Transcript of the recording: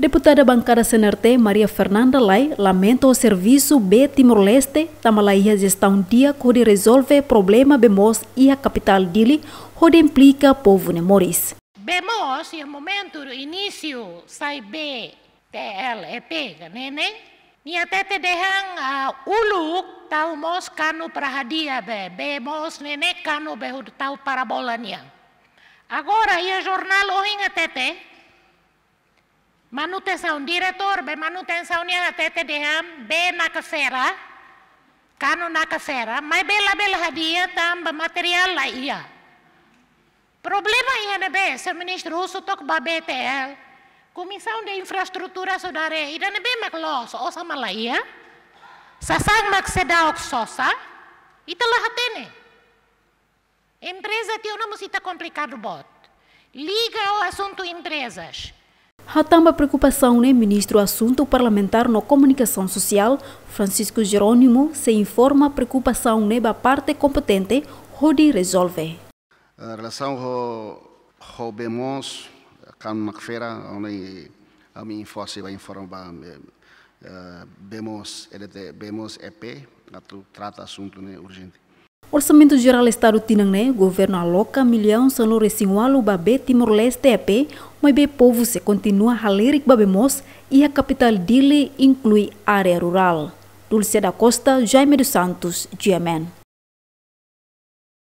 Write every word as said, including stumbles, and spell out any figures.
Deputada Bankada C N R T, Maria Fernanda Lay, lamenta ho servisu bee Timor-Leste, tanba la iha jestaun di'ak hodi rezolve problema bee moos iha kapitál Dili, hodi implika povu nia moris. Bee moos iha momentu inísiu sai bee T L E P ka ne'e ne'e, nia hatete dehan, ah, uluk tau moos kanu para hadi'a bee, bee moos ne'e ne'e kanu bee hodi tau parabola nian. Agora iha jornál ohin hatete, manutensaun, diretór bee manutensaun nian hatete dehan bee nakafera, kanu nakafera, maibé labele hadi'a tanba materiál la iha. Problema iha ne'ebé, señór ministru, husu took ba B T L, Komisaun de Infraestrutura sodare, ida ne'ebé mak loos, osan mak la iha, sasán mak seidauk sosa, ita la hatene. Empreza tiha ona mós ita komplikadu boot. Liga ho asuntu emprezas. Hatán ba preokupasaun ne'e, Ministru Asuntu Parlamentár no Komunikasaun Sosiál, Francisco Jerónimo, sei informa preokupasaun ne'e ba parte kompetente hodi rezolve. Eh, relasaun ho, ho bee moos, kanu nakafera, ohin ami informa, sei ba informa ba, eh, eh, bee moos, E D T, bee moos E P, atu trata asuntu ne'e urjente. Orsamentu Jerál Estadu tinan ne'e, governu aloka millaun sanulu-resin-ualu ba bee Timor-Leste E P, maibé povu sei kontinua halerik ba bee moos iha kapitál Dili, inklui área rurál. Dulce da Costa, Jaime dos Santos, G M N.